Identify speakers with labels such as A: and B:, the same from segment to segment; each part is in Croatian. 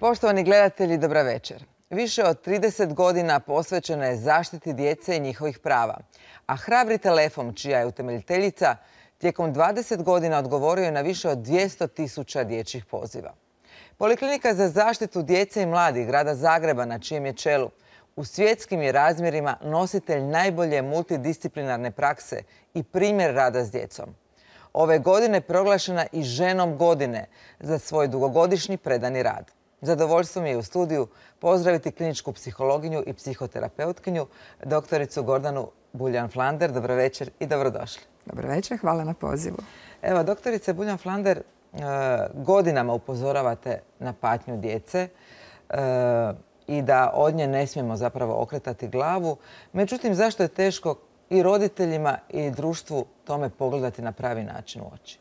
A: Poštovani gledatelji, dobra večer. Više od 30 godina posvećena je zaštiti djece i njihovih prava. A Hrabri telefon, čija je utemeljiteljica, tijekom 20 godina odgovorio je na više od 200.000 dječjih poziva. Poliklinika za zaštitu djece i mladih grada Zagreba, na čijem je čelu, u svjetskim je razmjerima nositelj najbolje multidisciplinarne prakse i primjer rada s djecom. Ove godine proglašena i ženom godine za svoj dugogodišnji predani rad. Zadovoljstvo mi je u studiju pozdraviti kliničku psihologinju i psihoterapeutkinju, doktoricu Gordanu Buljan-Flander. Dobro večer i dobrodošli.
B: Dobro večer, hvala na pozivu.
A: Evo, doktorice Buljan-Flander, godinama upozoravate na patnju djece i da od nje ne smijemo zapravo okretati glavu. Međutim, zašto je teško i roditeljima i društvu tome pogledati na pravi način u oči?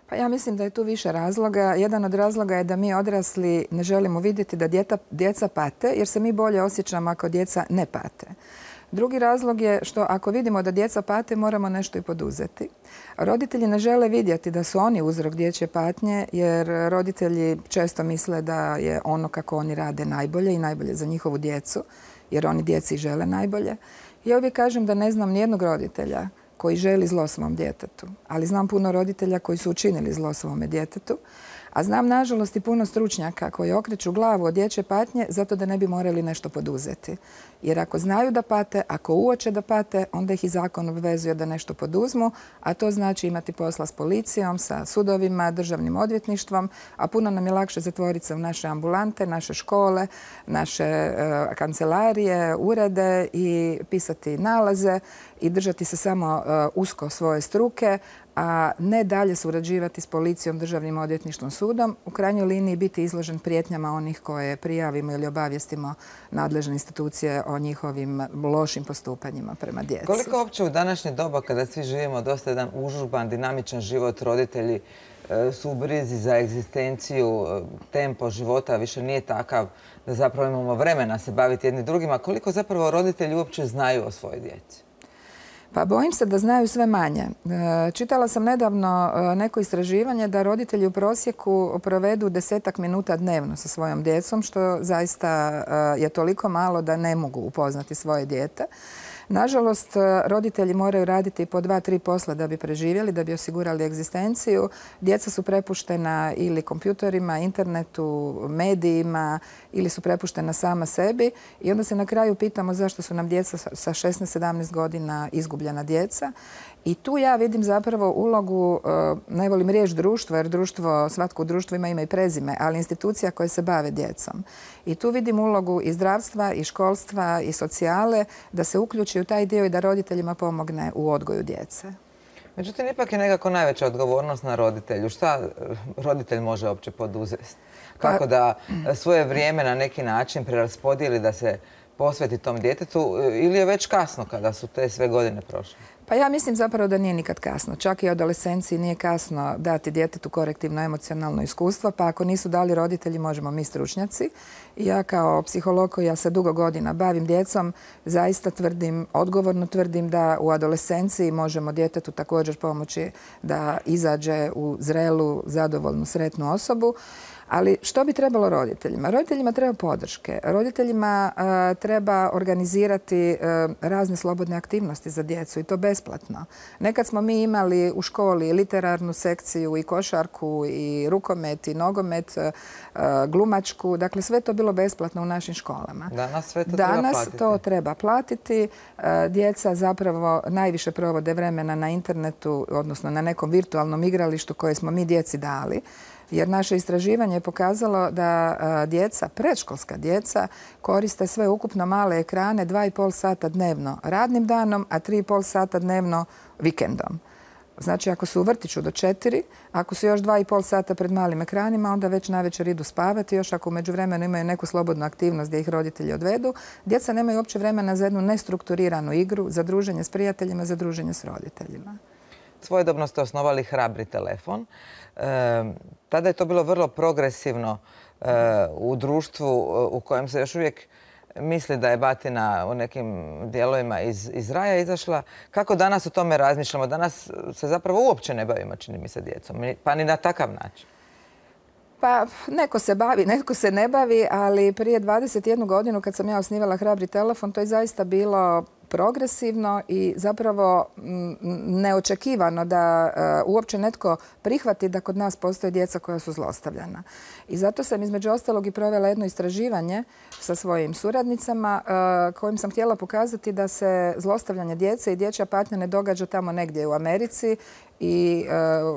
B: Pa ja mislim da je tu više razloga. Jedan od razloga je da mi odrasli ne želimo vidjeti da djeca pate, jer se mi bolje osjećamo ako djeca ne pate. Drugi razlog je što ako vidimo da djeca pate, moramo nešto i poduzeti. Roditelji ne žele vidjeti da su oni uzrok dječje patnje, jer roditelji često misle da je ono kako oni rade najbolje i najbolje za njihovu djecu, jer oni djeci žele najbolje. Ja uvijek kažem da ne znam nijednog roditelja koji želi zlo svom djetetu, ali znam puno roditelja koji su učinili zlo svome djetetu, a znam nažalost i puno stručnjaka koji okreću glavu od dječje patnje zato da ne bi morali nešto poduzeti. Jer ako znaju da pate, ako uoče da pate, onda ih i zakon obvezuje da nešto poduzmu, a to znači imati posla s policijom, sa sudovima, državnim odvjetništvom, a puno nam je lakše zatvoriti se u naše ambulante, naše škole, naše kancelarije, urede i pisati nalaze i držati se samo usko svoje struke, a ne dalje surađivati s policijom, državnim odvjetništvom, sudom, u krajnjoj liniji biti izložen prijetnjama onih koje prijavimo ili obavijestimo nadležne institucije o njihovim lošim postupanjima prema djeci.
A: Koliko uopće u današnje doba, kada svi živimo dosta jedan užurban, dinamičan život, roditelji su u brizi za egzistenciju, tempo života više nije takav da zapravo imamo vremena se baviti jedni drugima, koliko zapravo roditelji uopće znaju o svojoj djeci?
B: Pa bojim se da znaju sve manje. Čitala sam nedavno neko istraživanje da roditelji u prosjeku provedu 10-ak minuta dnevno sa svojom djecom, što zaista je toliko malo da ne mogu upoznati svoje dijete. Nažalost, roditelji moraju raditi po 2-3 posla da bi preživjeli, da bi osigurali egzistenciju. Djeca su prepuštena ili kompjutorima, internetu, medijima ili su prepuštena sama sebi i onda se na kraju pitamo zašto su nam djeca sa 16-17 godina izgubljena djeca. I tu ja vidim zapravo ulogu, ne volim riječ društvo, jer svatko u društvu ima ime i prezime, ali institucija koje se bave djecom. I tu vidim ulogu i zdravstva, i školstva, i socijale, da se uključi u taj dio i da roditeljima pomogne u odgoju djece.
A: Međutim, ipak je nekako najveća odgovornost na roditelju. Šta roditelj može uopće poduzeti? Kako da svoje vrijeme na neki način preraspodijeli da se posveti tom djetetu ili je već kasno kada su te sve godine prošle?
B: Pa ja mislim zapravo da nije nikad kasno. Čak i u adolescenciji nije kasno dati djetetu korektivno emocionalno iskustvo, pa ako nisu dali roditelji, možemo mi stručnjaci. Ja kao psiholog koja se dugo godina bavim djecom, zaista odgovorno tvrdim da u adolescenciji možemo djetetu također pomoći da izađe u zrelu, zadovoljnu, sretnu osobu. Ali što bi trebalo roditeljima? Roditeljima treba podrške. Roditeljima treba organizirati razne slobodne aktivnosti za djecu i to besplatno. Nekad smo mi imali u školi literarnu sekciju i košarku i rukomet i nogomet, glumačku. Dakle, sve to bilo besplatno u našim školama.
A: Danas sve to treba platiti.
B: Danas to treba platiti. Djeca zapravo najviše provode vremena na internetu, odnosno na nekom virtualnom igralištu koje smo mi djeci dali. Jer naše istraživanje je pokazalo da djeca, predškolska djeca, koriste sve ukupno male ekrane 2,5 sata dnevno radnim danom, a 3,5 sata dnevno vikendom. Znači, ako su u vrtiću do 4, ako su još 2,5 sata pred malim ekranima, onda već navečer idu spavati. Još ako u međuvremenu imaju neku slobodnu aktivnost gdje ih roditelji odvedu, djeca nemaju uopće vremena za jednu nestrukturiranu igru, za druženje s prijateljima, za druženje s roditeljima.
A: Svojedobno ste osnovali Hrabri telefon. Tada je to bilo vrlo progresivno u društvu u kojem se još uvijek misli da je batina u nekim dijelovima iz raja izašla. Kako danas o tome razmišljamo? Danas se zapravo uopće ne bavimo, čini mi se, djecom, pa ni na takav način.
B: Pa neko se bavi, neko se ne bavi, ali prije 21 godinu kad sam ja osnivala Hrabri telefon, to je zaista bilo progresivno i zapravo neočekivano da uopće netko prihvati da kod nas postoje djeca koja su zlostavljana. I zato sam između ostalog i provela jedno istraživanje sa svojim suradnicama kojim sam htjela pokazati da se zlostavljanje djece i dječja patnja ne događa tamo negdje u Americi i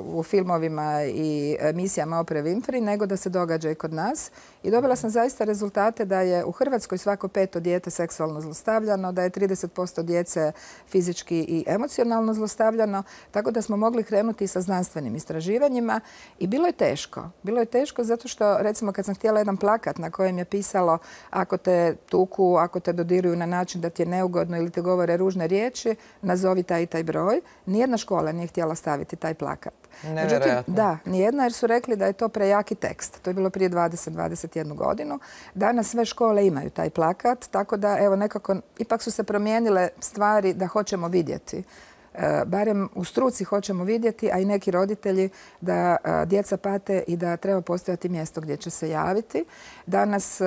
B: u filmovima i emisijama Oprah Winfrey, nego da se događa i kod nas. I dobila sam zaista rezultate da je u Hrvatskoj svako 5. dijete seksualno zlostavljano, da je 30% djece fizički i emocionalno zlostavljano, tako da smo mogli krenuti sa znanstvenim istraživanjima i bilo je teško. Bilo je teško zato što, recimo, kad sam htjela jedan plakat na kojem je pisalo ako te tuku, ako te dodiruju na način da ti je neugodno ili te govore ružne riječi, nazovi taj i taj broj. Nijedna škola nije htjela staviti taj plakat. Međutim, da, nijedna, jer su rekli da je to prejaki tekst. To je bilo prije 20-21 godinu. Danas sve škole imaju taj plakat, tako da evo nekako ipak su se promijenile stvari da hoćemo vidjeti. Barem u struci hoćemo vidjeti, a i neki roditelji, da djeca pate i da treba postojati mjesto gdje će se javiti. Danas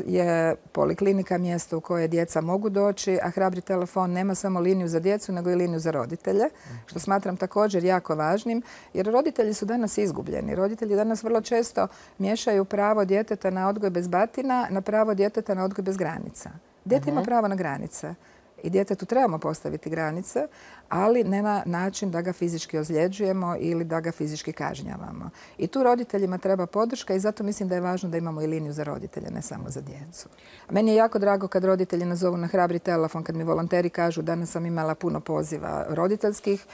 B: je poliklinika mjesto u koje djeca mogu doći, a Hrabri telefon nema samo liniju za djecu, nego i liniju za roditelje, što smatram također jako važnim, jer roditelji su danas izgubljeni. Roditelji danas vrlo često miješaju pravo djeteta na odgoj bez batina na pravo djeteta na odgoj bez granica. Dijete ima pravo na granice. I djetetu trebamo postaviti granice, ali ne na način da ga fizički ozljeđujemo ili da ga fizički kažnjavamo. I tu roditeljima treba podrška i zato mislim da je važno da imamo i liniju za roditelje, ne samo za djecu. Meni je jako drago kad roditelji nazovu na Hrabri telefon, kad mi volonteri kažu danas sam imala puno poziva roditeljskih.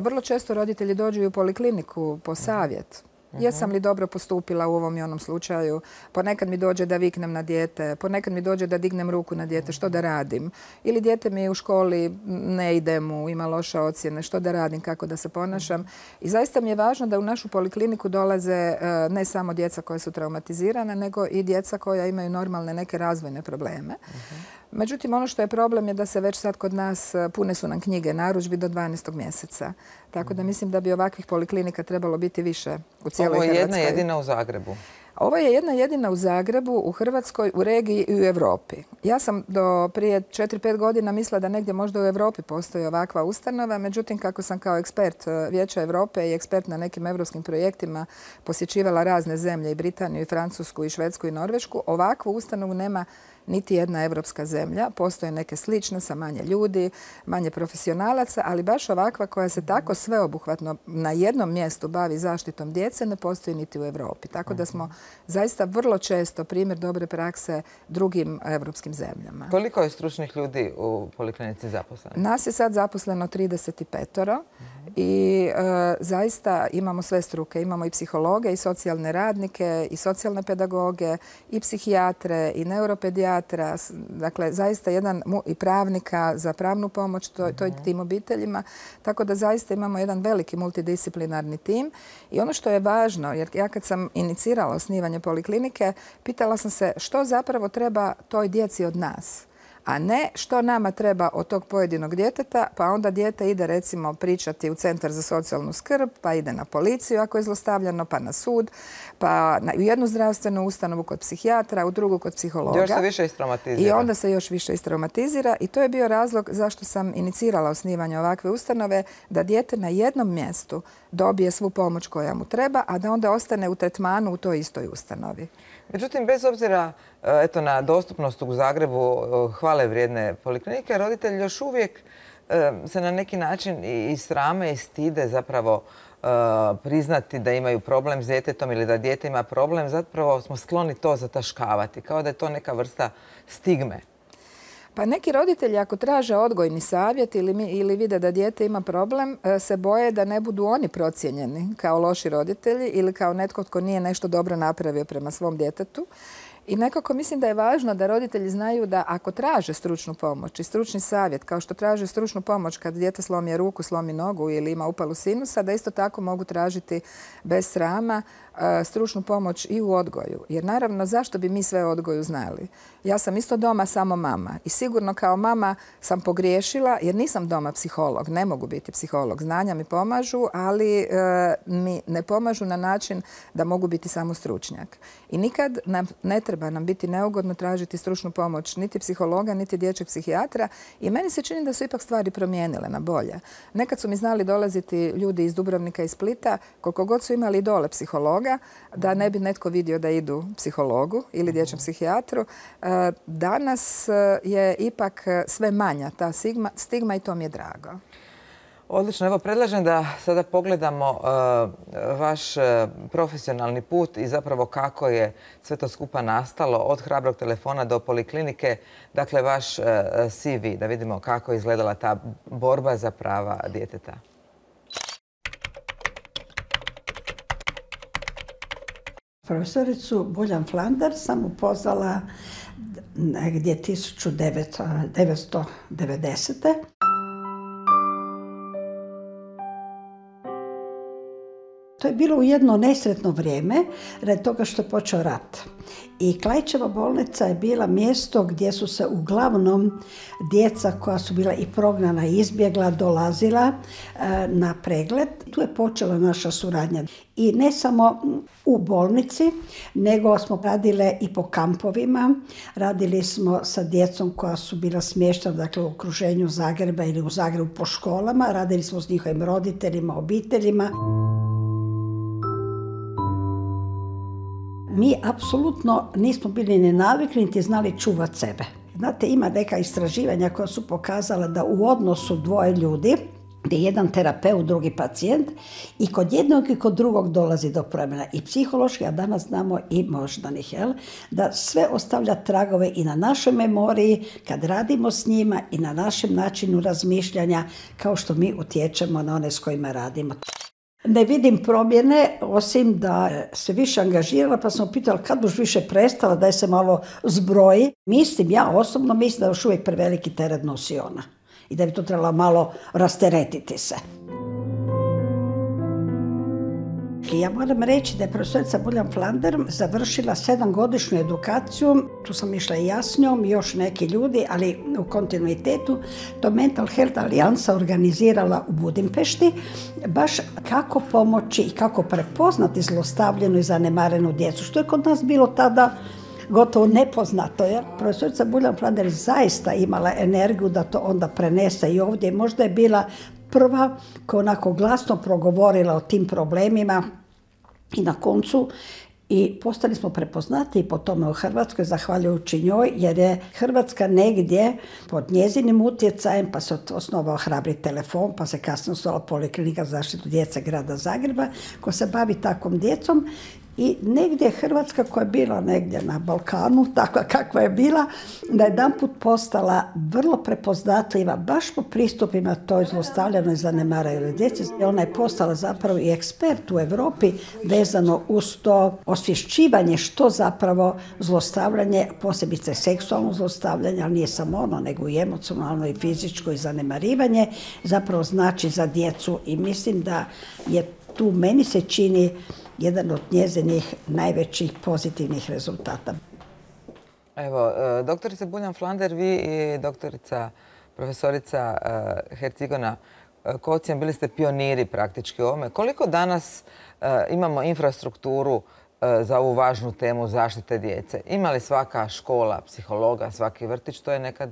B: Vrlo često roditelji dođu i u polikliniku po savjet. Jesam li dobro postupila u ovom i onom slučaju? Ponekad mi dođe da viknem na dijete, ponekad mi dođe da dignem ruku na dijete, što da radim? Ili dijete mi u školi ne ide mu, ima loše ocjene, što da radim, kako da se ponašam? I zaista mi je važno da u našu polikliniku dolaze ne samo djeca koja su traumatizirana, nego i djeca koja imaju normalne neke razvojne probleme. Međutim, ono što je problem je da se već sad kod nas pune su nam knjige narudžbi do 12. mjeseca. Tako da mislim da bi ovakvih poliklinika trebalo biti više u cijeloj Hrvatskoj.
A: Ovo je jedna jedina u Zagrebu.
B: Ovo je jedna jedina u Zagrebu, u Hrvatskoj, u regiji i u Europi. Ja sam do prije 4-5 godina mislila da negdje možda u Europi postoji ovakva ustanova. Međutim, kako sam kao ekspert Vijeća Europe i ekspert na nekim europskim projektima posjećivala razne zemlje, i Britaniju, i Francusku, i Švedsku, i Norvešku, ovakvu ustanovu nema niti jedna evropska zemlja. Postoje neke slične sa manje ljudi, manje profesionalaca, ali baš ovakva koja se tako sveobuhvatno na jednom mjestu bavi zaštitom djece ne postoji niti u Europi. Tako da smo zaista vrlo često primjer dobre prakse drugim evropskim zemljama.
A: Koliko je stručnih ljudi u poliklinici zaposleno?
B: Nas je sad zaposleno 35 i zaista imamo sve struke. Imamo i psihologe, i socijalne radnike, i socijalne pedagoge, i psihijatre, i neuropedijatre. Dakle, zaista jedan i pravnika za pravnu pomoć tim obiteljima. Tako da zaista imamo jedan veliki multidisciplinarni tim. I ono što je važno, jer ja kad sam inicirala osnivanje poliklinike, pitala sam se što zapravo treba toj djeci od nas, a ne što nama treba od tog pojedinog djeteta, pa onda dijete ide recimo pričati u Centar za socijalnu skrb, pa ide na policiju ako je zlostavljano, pa na sud, pa u jednu zdravstvenu ustanovu kod psihijatra, u drugu kod psihologa.
A: Još se više istraumatizira.
B: I onda se još više istraumatizira i to je bio razlog zašto sam inicirala osnivanje ovakve ustanove, da dijete na jednom mjestu dobije svu pomoć koja mu treba, a da onda ostane u tretmanu u toj istoj ustanovi.
A: Međutim, bez obzira na dostupnost u Zagrebu hvale vrijedne poliklinike, roditelji još uvijek se na neki način i srame i stide zapravo priznati da imaju problem s djetetom ili da dijete ima problem. Zapravo smo skloni to zataškavati, kao da je to neka vrsta stigme.
B: Pa neki roditelji ako traže odgojni savjet ili vide da dijete ima problem, se boje da ne budu oni procijenjeni kao loši roditelji ili kao netko tko nije nešto dobro napravio prema svom djetetu. I nekako mislim da je važno da roditelji znaju da ako traže stručnu pomoć i stručni savjet, kao što traže stručnu pomoć kad dijete slomi ruku, slomi nogu ili ima upalu sinusa, da isto tako mogu tražiti bez srama stručnu pomoć i u odgoju. Jer naravno, zašto bi mi sve o odgoju znali? Ja sam isto doma samo mama i sigurno kao mama sam pogriješila jer nisam doma psiholog, ne mogu biti psiholog. Znanja mi pomažu, ali mi ne pomažu na način da mogu biti samo stručnjak. I nikad ne treba nam biti neugodno tražiti stručnu pomoć niti psihologa, niti dječjeg psihijatra i meni se čini da su ipak stvari promijenile na bolje. Nekad su mi znali dolaziti ljudi iz Dubrovnika i Splita, koliko god su imali dole psihologa, da ne bi netko vidio da idu psihologu ili dječjem psihijatru. Danas je ipak sve manja ta stigma i to mi je drago.
A: Odlično. Evo, predlažem da sada pogledamo vaš profesionalni put i zapravo kako je sve to skupa nastalo od hrabrog telefona do poliklinike. Dakle, vaš CV, da vidimo kako je izgledala ta borba za prava djeteta.
C: Profesoricu Buljan Flander sam upoznala negdje 1990. To je bilo u jedno nesretno vrijeme, radi toga što je počeo rat. I Klaićeva bolnica je bila mjesto gdje su se uglavnom djeca koja su bila i prognana i izbjegla dolazila na pregled. Tu je počela naša suradnja. I ne samo u bolnici, nego smo radile i po kampovima. Radili smo sa djecom koja su bila smještena, dakle, u okruženju Zagreba ili u Zagrebu po školama. Radili smo s njihovim roditeljima, obiteljima. Mi apsolutno nismo bili ni navikli, niti znali čuvati sebe. Znate, ima neka istraživanja koja su pokazala da u odnosu dvoje ljudi, gdje je jedan terapeut, drugi pacijent, i kod jednog i kod drugog dolazi do promjena i psihološki, a danas znamo i moždanih, da sve ostavlja tragove i na našoj memoriji, kad radimo s njima, i na našem načinu razmišljanja, kao što mi utječemo na one s kojima radimo. Ne vidim promjene, osim da se više angažirala, pa sam pitala kad boš više prestala, daj se malo zbroji. Ja osobno mislim da još uvijek preveliki teret nosi ona i da bi to trebalo malo rasteretiti se. Ja moram reći da je profesorica Buljan Flander završila 7-godišnju edukaciju. Tu sam išla i ja s njom, još neki ljudi, ali u kontinuitetu. To Mental Health Alijansa organizirala u Budimpešti, baš kako pomoći i kako prepoznati zlostavljenu i zanemarenu djecu, što je kod nas bilo tada gotovo nepoznato. Profesorica Buljan Flander zaista imala energiju da to onda prenese i ovdje. Možda je bila prva koja onako glasno progovorila o tim problemima i na koncu i postali smo prepoznati po tome u Hrvatskoj, zahvaljujući njoj, jer je Hrvatska negdje pod njezinim utjecajem, pa se osnovao Hrabri telefon, pa se kasnije osnovala Poliklinika za zaštitu djece grada Zagreba, koja se bavi takvom djecom. I negdje Hrvatska, koja je bila negdje na Balkanu, takva kakva je bila, da je jedanput postala vrlo prepoznatljiva baš po pristupima toj zlostavljanoj i zanemarenoj djeci. Ona je postala zapravo i ekspert u Europi vezano uz to osvješćivanje što zapravo zlostavljanje, posebice seksualno zlostavljanje, ali nije samo ono, nego i emocionalno i fizičko i zanemarivanje, zapravo znači za djecu. I mislim da je tu, meni se čini, jedan od njezinih najvećih pozitivnih rezultata.
A: Evo, doktorica Buljan Flander, vi i doktorica profesorica Hercigona Kocijan, bili ste pioniri praktički u ovome. Koliko danas imamo infrastrukturu za ovu važnu temu zaštite djece? Ima li svaka škola psihologa, svaki vrtić? To je nekad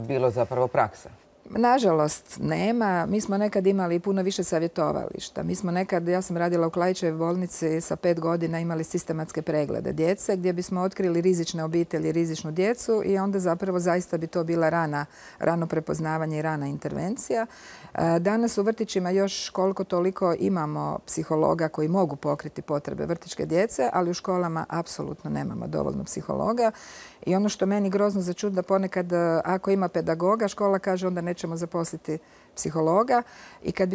A: bilo zapravo praksa.
B: Nažalost, nema. Mi smo nekad imali puno više savjetovališta. Mi smo nekad, ja sam radila u Klaićevoj bolnici sa 5 godina, imali sistematske preglede djece gdje bismo otkrili rizične obitelji, rizičnu djecu i onda zapravo zaista bi to bila rano prepoznavanje i rana intervencija. Danas u vrtićima još koliko toliko imamo psihologa koji mogu pokriti potrebe vrtićke djece, ali u školama apsolutno nemamo dovoljno psihologa. I ono što meni grozno začudi da ponekad ako ima pedagoga, škola kaže onda neće ćemo zaposliti psihologa i kad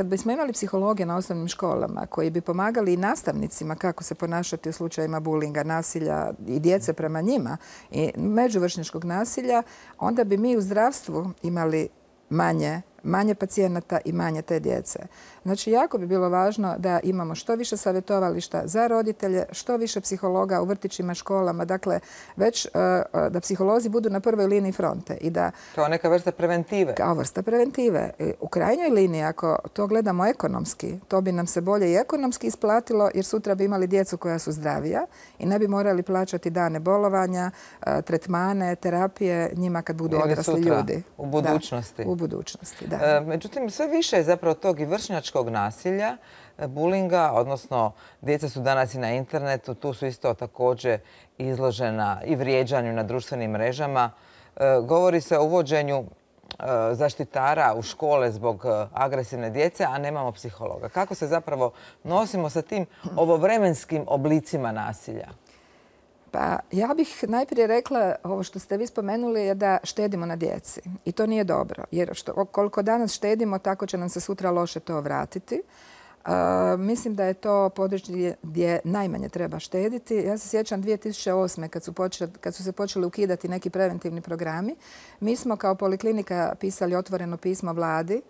B: bismo imali psihologe na osnovnim školama koji bi pomagali i nastavnicima kako se ponašati u slučajevima bulinga, nasilja i djece prema njima i međuvršnjačkog nasilja, onda bi mi u zdravstvu imali manje pacijenata i manje te djece. Znači, jako bi bilo važno da imamo što više savjetovališta za roditelje, što više psihologa u vrtićima, školama, dakle, već da psiholozi budu na prvoj liniji fronte.
A: Kao neka vrsta preventive.
B: Kao vrsta preventive. U krajnjoj liniji, ako to gledamo ekonomski, to bi nam se bolje i ekonomski isplatilo, jer sutra bi imali djecu koja su zdravija i ne bi morali plaćati dane bolovanja, tretmane, terapije njima kad budu odrasli ljudi.
A: U budućnosti.
B: Da, u budućnosti, da.
A: Međutim, sve više je zapravo tog i vršnjačkog nasilja, bulinga, odnosno djeca su danas i na internetu, tu su isto također izložena i vrijeđanju na društvenim mrežama. Govori se o uvođenju zaštitara u škole zbog agresivne djece, a nemamo psihologa. Kako se zapravo nosimo sa tim ovovremenskim oblicima nasilja?
B: Pa ja bih najprije rekla, ovo što ste vi spomenuli je da štedimo na djeci. I to nije dobro. Jer koliko danas štedimo, tako će nam se sutra loše to vratiti. Mislim da je to područje gdje najmanje treba štediti. Ja se sjećam 2008. kad su se počeli ukidati neki preventivni programi. Mi smo kao poliklinika pisali otvoreno pismo vladi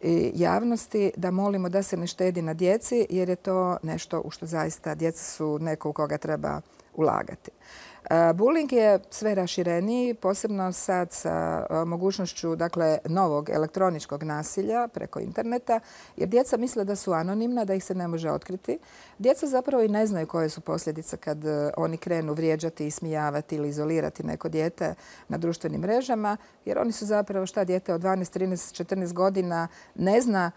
B: i javnosti da molimo da se ne štedi na djeci jer je to nešto u što zaista djeca su neko u koga treba ulagati. Bullying je sve rašireniji, posebno sad sa mogućnošću novog elektroničkog nasilja preko interneta, jer djeca misle da su anonimna, da ih se ne može otkriti. Djeca zapravo i ne znaju koje su posljedice kad oni krenu vrijeđati, ismijavati ili izolirati neko dijete na društvenim mrežama, jer oni su zapravo dijete od 12, 13, 14 godina ne zna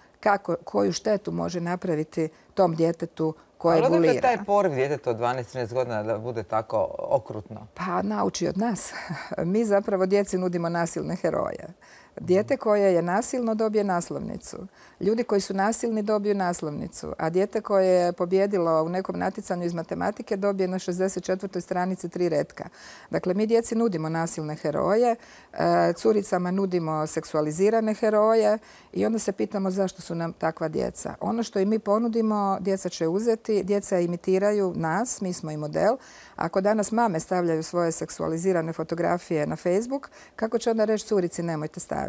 B: koju štetu može napraviti tom djetetu koje bulira.
A: Ali odakle taj poriv djeteta od 12-13 godina da bude tako okrutno?
B: Pa nauči od nas. Mi zapravo djeci nudimo nasilne heroje. Dijete koje je nasilno dobije naslovnicu. Ljudi koji su nasilni dobiju naslovnicu. A dijete koje je pobjedilo u nekom natjecanju iz matematike dobije na 64. stranici 3 retka. Dakle, mi djeci nudimo nasilne heroje, curicama nudimo seksualizirane heroje i onda se pitamo zašto su nam takva djeca. Ono što i mi ponudimo, djeca će uzeti, djeca imitiraju nas, mi smo i model. Ako danas mame stavljaju svoje seksualizirane fotografije na Facebook, kako će onda reći curici nemojte staviti?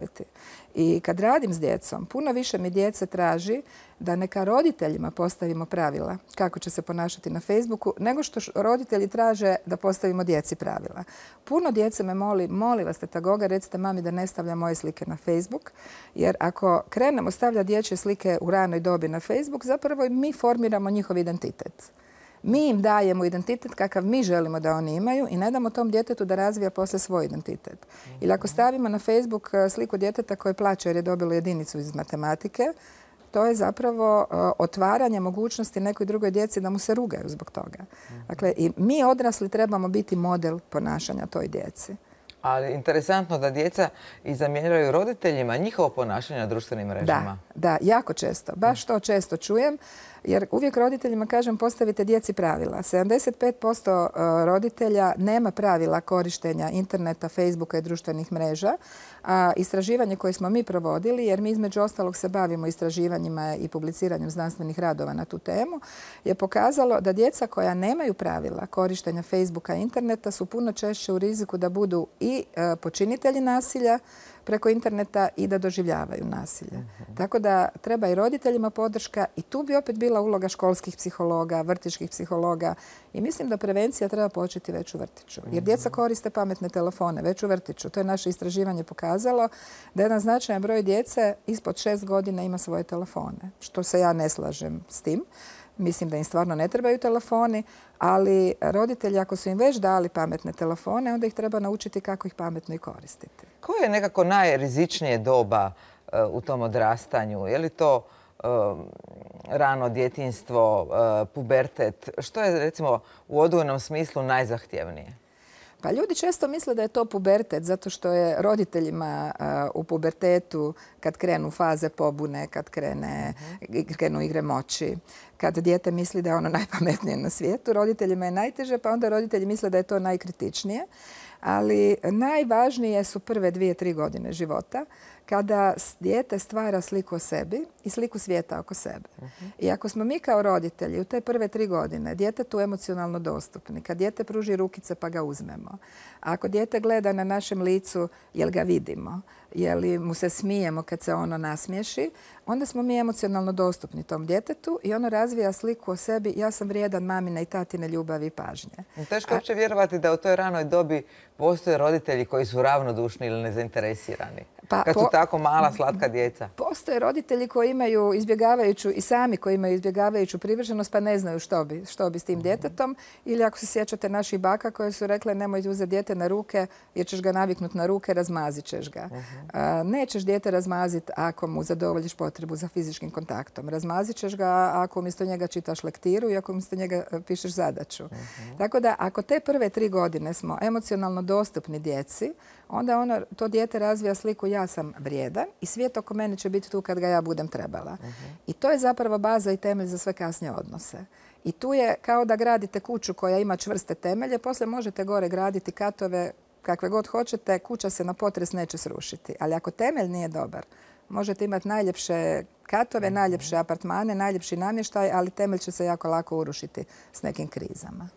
B: I kad radim s djecom, puno više mi djece traži da neka roditeljima postavimo pravila kako će se ponašati na Facebooku, nego što roditelji traže da postavimo djeci pravila. Puno djece me moli vas tetagoga, recite mami da ne stavlja moje slike na Facebook, jer ako krenemo stavljati dječje slike u ranoj dobi na Facebook, zapravo mi formiramo njihov identitet. Mi im dajemo identitet kakav mi želimo da oni imaju i ne damo tom djetetu da razvija poslije svoj identitet. Ili ako stavimo na Facebook sliku djeteta koje plače jer je dobilo jedinicu iz matematike, to je zapravo otvaranje mogućnosti nekoj drugoj djeci da mu se rugaju zbog toga. Dakle, i mi odrasli trebamo biti model ponašanja toj djeci.
A: Ali interesantno da djeca i zamjeraju roditeljima njihovo ponašanje na društvenim mrežama.
B: Da, jako često. Baš to često čujem. Jer uvijek roditeljima kažem postavite djeci pravila. 75% roditelja nema pravila korištenja interneta, Facebooka i društvenih mreža. A istraživanje koje smo mi provodili, jer mi između ostalog se bavimo istraživanjima i publiciranjem znanstvenih radova na tu temu, je pokazalo da djeca koja nemaju pravila korištenja Facebooka i interneta su puno češće u riziku da budu i počinitelji nasilja preko interneta i da doživljavaju nasilje. Tako da treba i roditeljima podrška i tu bi opet bila uloga školskih psihologa, vrtićkih psihologa i mislim da prevencija treba početi već u vrtiću. Jer djeca koriste pametne telefone već u vrtiću. To je naše istraživanje pokazalo da jedan značajan broj djece ispod 6 godina ima svoje telefone. Što se ja ne slažem s tim. Mislim da im stvarno ne trebaju telefoni, ali roditelji ako su im već dali pametne telefone, onda ih treba naučiti kako ih pametno i koristiti.
A: Koje je nekako najrizičnije doba u tom odrastanju? Je li to rano djetinjstvo, pubertet? Što je recimo u odgojnom smislu najzahtjevnije?
B: Pa ljudi često misle da je to pubertet zato što je roditeljima u pubertetu kad krenu faze pobune, kad krenu igre moći, kad dijete misli da je ono najpametnije na svijetu, roditeljima je najteže pa onda roditelji misle da je to najkritičnije. Ali najvažnije su prve 2-3 godine života kada dijete stvara sliku o sebi i sliku svijeta oko sebe. I ako smo mi kao roditelji u te prve 3 godine djetetu emocionalno dostupni, kad dijete pruži rukice pa ga uzmemo, ako dijete gleda na našem licu jel ga vidimo, jel mu se smijemo kad se ono nasmiješi, onda smo mi emocionalno dostupni tom djetetu i ono razvija sliku o sebi, ja sam vrijedan mamine i tatine ljubavi i pažnje.
A: Teško je uopće vjerovati da u toj ranoj dobi postoje roditelji koji su ravnodušni ili nezainteresirani. Kad su tako mala, slatka djeca.
B: Postoje roditelji koji imaju izbjegavajuću i sami koji imaju izbjegavajuću privrženost pa ne znaju što bi s tim djetetom. Ili ako se sjećate naših baka koje su rekle nemoj uzeti dijete na ruke jer ćeš ga naviknuti na ruke, razmazit ćeš ga. Nećeš dijete razmaziti ako mu zadovoljiš potrebu za fizičkim kontaktom. Razmazit ćeš ga ako umjesto njega čitaš lektiru i ako umjesto njega pišeš zadaću. Tako da ako te prve 3 godine smo emocionalno dostupni djeci, onda to dijete razvija sliku ja sam vrijedan i svijet oko mene će biti tu kad ga ja budem trebala. I to je zapravo baza i temelj za sve kasnije odnose. I tu je kao da gradite kuću koja ima čvrste temelje, poslije možete gore graditi katove kakve god hoćete, kuća se na potres neće srušiti. Ali ako temelj nije dobar, možete imati najljepše katove, najljepše apartmane, najljepši namještaj, ali temelj će se jako lako urušiti s nekim krizama.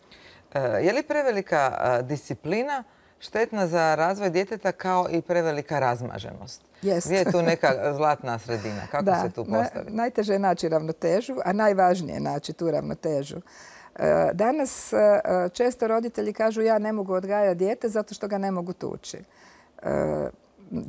A: Je li prevelika disciplina štetna za razvoj djeteta kao i prevelika razmaženost?
B: Jest.
A: Gdje je tu neka zlatna sredina? Kako se tu postaviti?
B: Najteže je naći ravnotežu, a najvažnije je naći tu ravnotežu. Danas često roditelji kažu ja ne mogu odgajati dijete zato što ga ne mogu tući.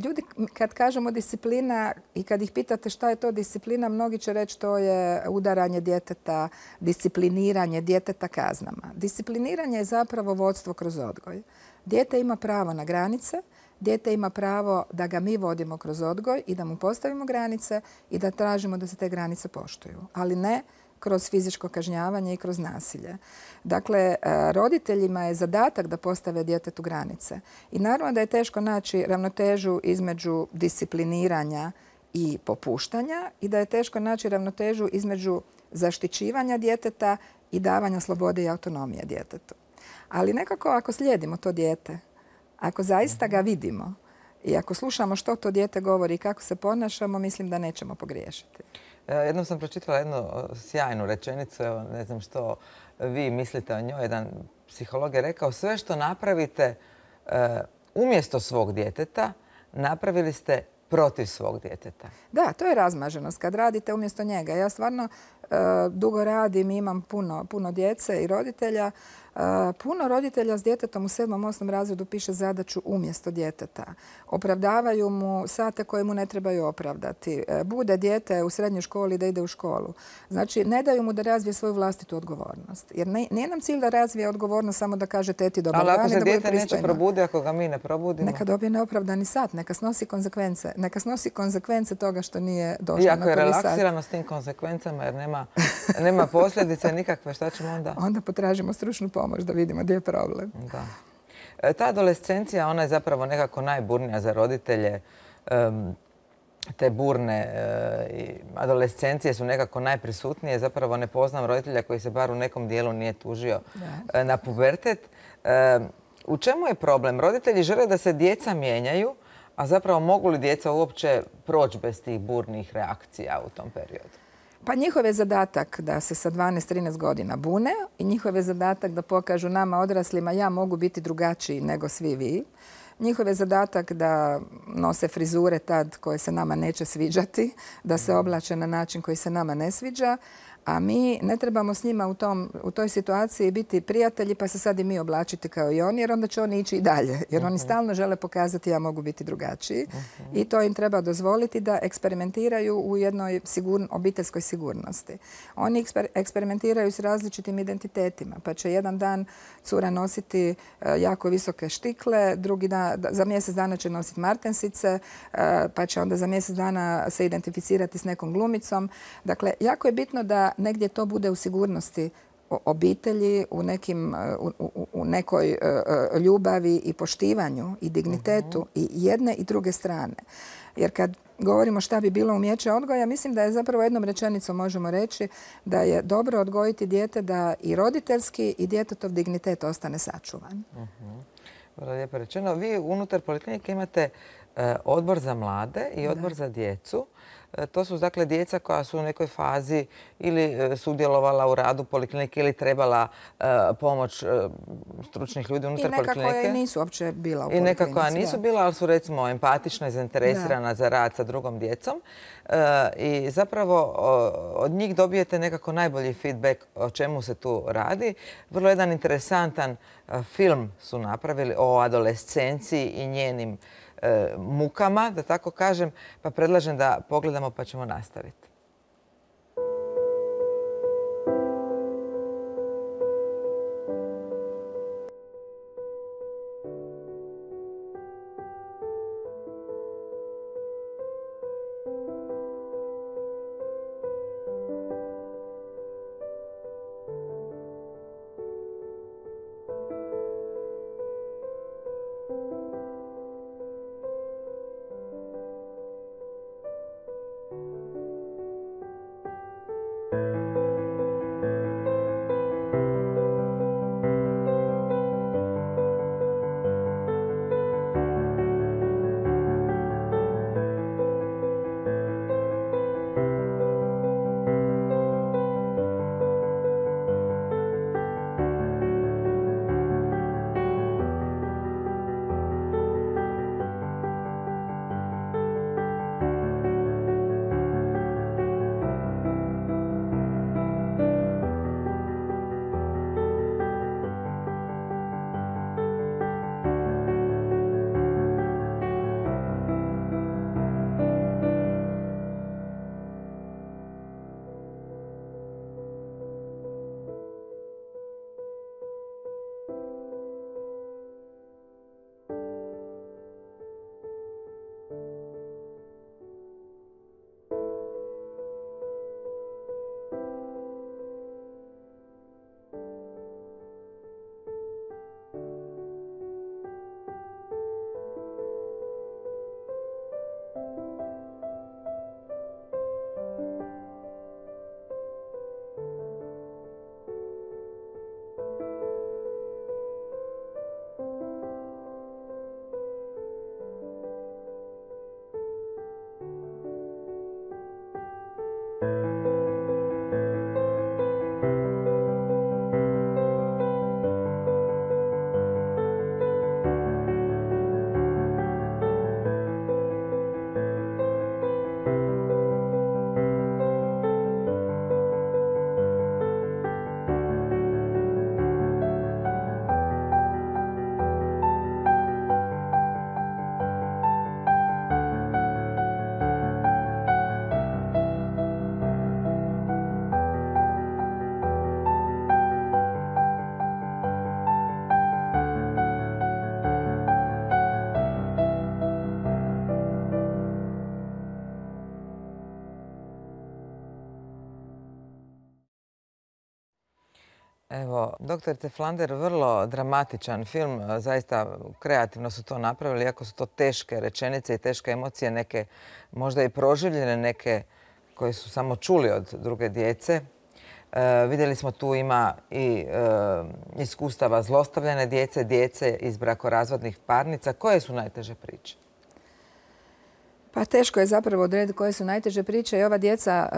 B: Ljudi kad kažemo disciplina i kad ih pitate šta je to disciplina, mnogi će reći to je udaranje djeteta, discipliniranje djeteta kaznama. Discipliniranje je zapravo vodstvo kroz odgoj. Dijete ima pravo na granice, dijete ima pravo da ga mi vodimo kroz odgoj i da mu postavimo granice i da tražimo da se te granice poštuju, ali ne kroz fizičko kažnjavanje i kroz nasilje. Dakle, roditeljima je zadatak da postave djetetu granice. I naravno da je teško naći ravnotežu između discipliniranja i popuštanja i da je teško naći ravnotežu između zaštićivanja djeteta i davanja slobode i autonomije djetetu. Ali nekako ako slijedimo to dijete, ako zaista ga vidimo i ako slušamo što to dijete govori i kako se ponašamo, mislim da nećemo pogriješiti.
A: Jednom sam pročitala jednu sjajnu rečenicu, evo, ne znam što vi mislite o njoj. Jedan psiholog je rekao sve što napravite umjesto svog djeteta, napravili ste protiv svog djeteta.
B: Da, to je razmaženost kad radite umjesto njega. Ja stvarno dugo radim i imam puno djece i roditelja. Puno roditelja s djetetom u 7. 8. razredu piše zadaću umjesto djeteta. Opravdavaju mu sate koje mu ne trebaju opravdati. Bude dijete u srednjoj školi da ide u školu. Znači, ne daju mu da razvije svoju vlastitu odgovornost. Jer nije nam cilj da razvije odgovornost samo da kaže teti dobar dan i da bude pristojno.
A: Ali ako se dijete neće probudi, ako ga mi ne probudimo?
B: Neka dobije neopravdani sat, neka snosi konsekvence. Neka snosi konsekvence toga što nije došlo na prvi sat.
A: I ako je relaksirano s tim konsekvencama jer nema posljedice nikakve, šta ćemo onda?
B: Onda potražimo stručnu pomoć da vidimo gdje je problem.
A: Da. Ta adolescencija, ona je zapravo nekako najburnija za roditelje. Te burne adolescencije su nekako najprisutnije. Zapravo ne poznam roditelja koji se bar u nekom dijelu nije tužio na pubertet. U čemu je problem? Roditelji žele da se djeca mijenjaju, a zapravo mogu li djeca uopće proći bez tih burnih reakcija u tom periodu?
B: Pa njihov je zadatak da se sa 12-13 godina bune i njihov je zadatak da pokažu nama odraslima ja mogu biti drugačiji nego svi vi. Njihov je zadatak da nose frizure tad koje se nama neće sviđati, da se oblače na način koji se nama ne sviđa, a mi ne trebamo s njima u toj situaciji biti prijatelji pa se sad i mi oblačiti kao i oni jer onda će oni ići i dalje. Jer oni stalno žele pokazati ja mogu biti drugačiji i to im treba dozvoliti da eksperimentiraju u jednoj obiteljskoj sigurnosti. Oni eksperimentiraju s različitim identitetima pa će jedan dan cura nositi jako visoke štikle, drugi dan, za mjesec dana će nositi martensice, pa će onda za mjesec dana se identificirati s nekom glumicom. Dakle, jako je bitno da negdje to bude u sigurnosti obitelji, u nekoj ljubavi i poštivanju i dignitetu i jedne i druge strane. Jer kad govorimo šta bi bilo umijeće odgoja, mislim da je zapravo jednom rečenicom možemo reći da je dobro odgojiti dijete da i roditeljski i djetetov dignitet ostane sačuvan.
A: Vrlo lijepo rečeno. Vi unutar poliklinike imate odbor za mlade i odbor za djecu. To su dakle djeca koja su u nekoj fazi ili sudjelovala u radu poliklinike ili trebala pomoć stručnih ljudi unutar poliklinike.
B: I neka koja nisu uopće bila u poliklinici.
A: I neka koja nisu bila, ali su recimo empatična i zainteresirana za rad sa drugom djecom. I zapravo od njih dobijete nekako najbolji feedback o čemu se tu radi. Vrlo jedan interesantan film su napravili o adolescenciji i njenim mukama, da tako kažem, pa predlažem da pogledamo pa ćemo nastaviti. Evo, doktorice Flander, vrlo dramatičan film, zaista kreativno su to napravili, iako su to teške rečenice i teške emocije, neke možda i proživljene, neke koje su samo čuli od druge djece. Vidjeli smo tu ima i iskustava zlostavljane djece iz brakorazvodnih parnica. Koje su najteže priče?
B: Pa teško je zapravo odrediti koje su najteže priče i ova djeca,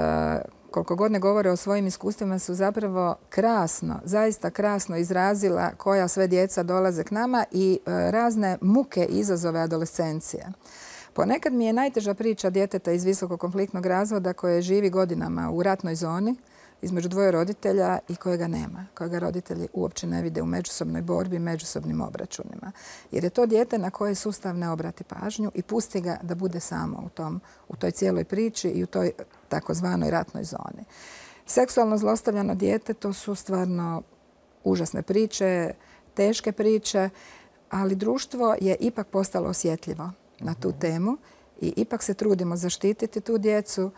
B: koliko god ne govore o svojim iskustvima, su zapravo krasno, zaista krasno izrazila koja sve djeca dolaze k nama i razne muke i izazove adolescencije. Ponekad mi je najteža priča djeteta iz visokokonfliktnog razvoda koje živi godinama u ratnoj zoni između dvoje roditelja i kojega nema, kojega roditelji uopće ne vide u međusobnoj borbi, međusobnim obračunima. Jer je to dijete na koje sustav ne obrati pažnju i pusti ga da bude samo u toj cijeloj priči i u toj takozvanoj ratnoj zoni. Seksualno zlostavljano dijete, to su stvarno užasne priče, teške priče, ali društvo je ipak postalo osjetljivo na tu temu i ipak se trudimo zaštititi tu djecu.